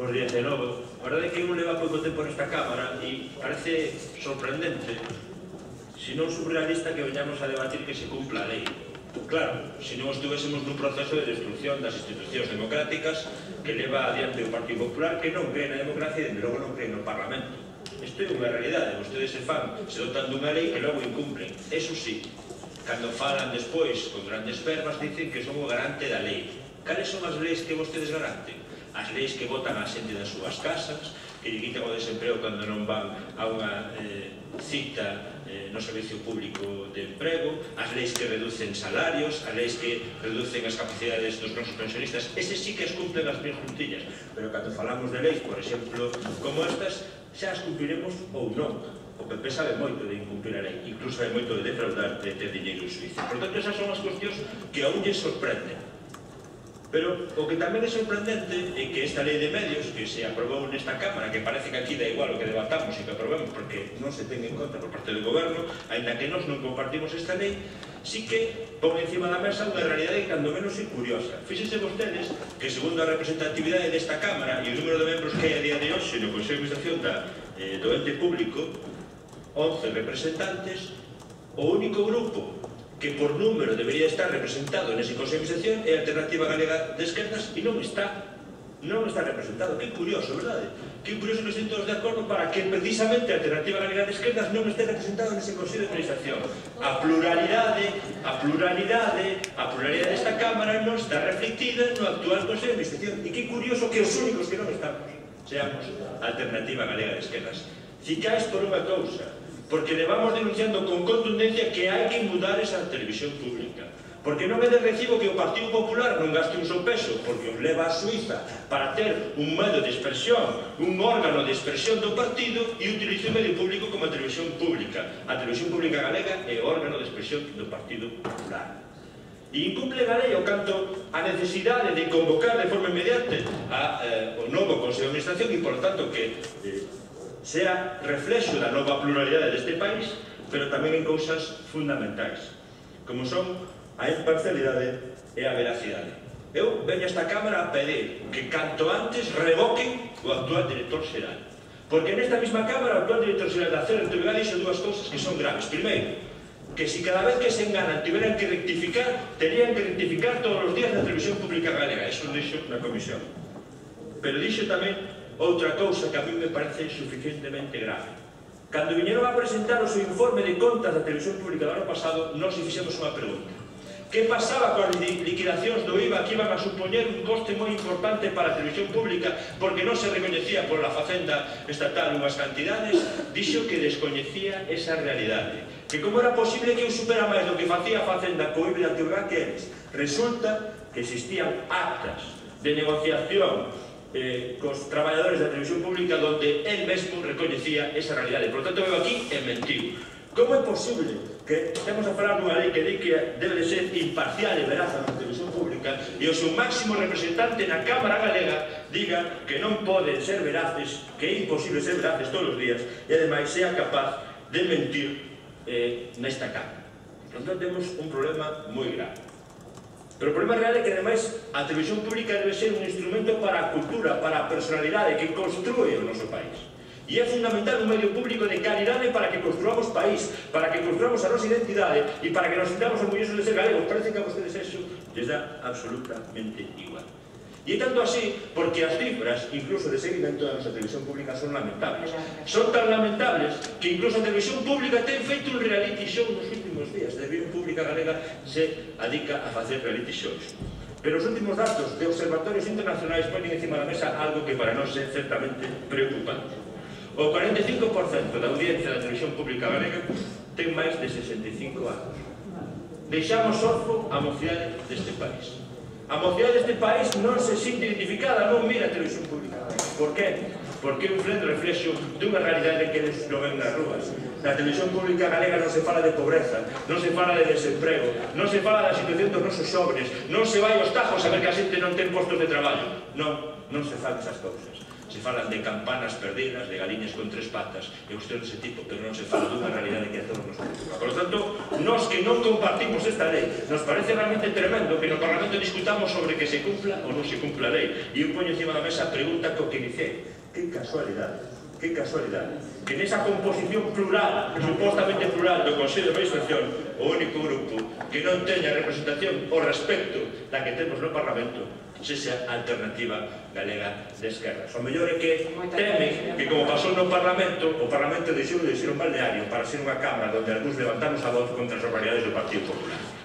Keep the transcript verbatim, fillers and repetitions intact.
Pois diecinueve. A verdade é que un leva pouco tempo nesta Cámara e parece sorprendente, se non surrealista, que veñamos a debatir que se cumpla a lei. Claro, se non estivésemos nun proceso de destrucción das institucións democráticas que leva adiante o Partido Popular, que non cree na democracia e, de logo, non cree no Parlamento. Isto é unha realidade. Vostedes se fan, se dotan dunha lei que logo incumplen. Eso sí, cando falan despois con grandes verbas, dicen que son o garante da lei. Cales son as leis que vostedes garanten? As leis que votan a xente das súas casas, que lle quitan o desemprego cando non van a unha eh, cita eh, no servicio público de emprego, as leis que reducen salarios, as leis que reducen as capacidades dos nosos pensionistas. Ese sí que as cumplen as mil juntillas, pero cando falamos de leis, por exemplo, como estas, xa as cumpliremos ou non. O P P sabe moito de incumplir a lei, incluso sabe moito de defraudar, de ter dinheiro en Suiza. Por tanto, esas son as cuestións que aún lles sorprenden. Pero o que tamén é sorprendente é que esta lei de medios que se aprobou nesta Cámara, que parece que aquí dá igual o que debatamos e que aprobemos porque non se ten en conta por parte do Goberno, aínda que nós non compartimos esta lei, sí que pon encima da mesa unha realidade que cando menos é curiosa. Fíxense vostedes que segundo a representatividade desta Cámara e o número de membros que hai a día de hoxe no Consello de Administración da, eh, do ente público, once representantes, o único grupo que por número debería estar representado nese Consello de Administración é a Alternativa Galega de Esquerdas e non está, non está representado. Que curioso, verdade? Que curioso que estén todos de acordo para que precisamente a Alternativa Galega de Esquerdas non este representado nese Consello de Administración. A pluralidade, a pluralidade, a pluralidade desta Cámara non está reflectida no actual Consello de Administración. E que curioso que os únicos que non estamos seamos a Alternativa Galega de Esquerdas. Cicais por unha cousa, porque levamos denunciando con contundencia que hai que mudar esa televisión pública. Porque non é de recibo que o Partido Popular non gaste un só peso, porque os leva a Suiza para ter un medio de expresión, un órgano de expresión do partido e utilice o medio público como a televisión pública. A televisión pública galega é o órgano de expresión do Partido Popular. E incumple a lei o canto a necesidade de convocar de forma inmediata a, eh, o novo Consello de Administración e, por tanto, que eh, sea reflexo da nova pluralidade deste país, pero tamén en cousas fundamentais, como son a imparcialidade e a veracidade. Eu veño a esta Cámara a pedir que canto antes revoquen o actual director xeral, porque nesta mesma Cámara o actual director xeral da C E R T V G dixo dúas cousas que son graves. Primeiro, que si cada vez que se enganan tiveran que rectificar, terían que rectificar todos os días na televisión pública galega. Eso dixo na comisión. Pero dixo tamén outra cousa que a mí me parece suficientemente grave. Cando viñeron a presentar o seu informe de contas da televisión pública do ano pasado, nós fixemos unha pregunta. Que pasaba coas liquidacións do I V A que iban a supoñer un coste moi importante para a televisión pública porque non se recoñecía por la Facenda estatal unhas cantidades? Dixo que descoñecía esa realidade. Que como era posible que eu supera máis do que facía a Facenda co I V A da T V G que eles? Resulta que existían actas de negociación Eh, cos traballadores da televisión pública donde él mesmo recoñecía esa realidade. Por lo tanto, veo aquí e mentiu. Como é posible que estemos a falar dunha lei que di que debe de ser imparcial e veraz na televisión pública e o seu máximo representante na Cámara Galega diga que non poden ser veraces, que é imposible ser veraces todos os días e ademais sea capaz de mentir eh, nesta Cámara? Por lo tanto, temos un problema moi grave. Pero o problema real é que, ademais, a televisión pública debe ser un instrumento para a cultura, para a personalidade que construe o noso país. E é fundamental un medio público de calidade para que construamos país, para que construamos a nosa identidade e para que nos sintamos orgullosos de ser galegos. Parece que a vostedes eso les dá absolutamente igual. E tanto así, porque as cifras, incluso de seguimento da nosa televisión pública, son lamentables. Son tan lamentables que incluso a televisión pública ten feito un reality show nos últimos días. A televisión pública galega se adica a facer reality shows. Pero os últimos datos de observatorios internacionais ponen encima da mesa algo que para nós é certamente preocupante. O cuarenta e cinco por cento da audiencia da televisión pública galega ten máis de sesenta e cinco anos. Deixamos orfo a mocidade deste país. A mocidade deste país non se sinte identificada, non mira a televisión pública. Por que? Porque é un frente reflexo dunha realidade que eles non ven nas rúas. Na televisión pública galega non se fala de pobreza, non se fala de desemprego, non se fala da situación dos nosos xóvenes, non se vai aos tajos a ver que a xente non ten postos de traballo. Non, non se fan esas cousas. se falan de campanas perdidas, de galiñas con tres patas e cuestións dese tipo, pero non se fala dunha realidade que a todos nos preocupa. Por lo tanto, nós que non compartimos esta lei, nos parece realmente tremendo que no Parlamento discutamos sobre que se cumpla ou non se cumpla a lei. E eu poño encima da mesa a pregunta co que iniciei. Que casualidade, que casualidade, que nesa composición plural, supostamente plural do Consello de Administración, o único grupo que non teña representación ao respecto da que temos no Parlamento sexa a Alternativa Galega de Esquerdas. O mellor é que teme que, como pasou no Parlamento, o Parlamento deixou de ser un balneario para ser unha cámara onde algúns levantamos a voz contra as barbaridades do Partido Popular.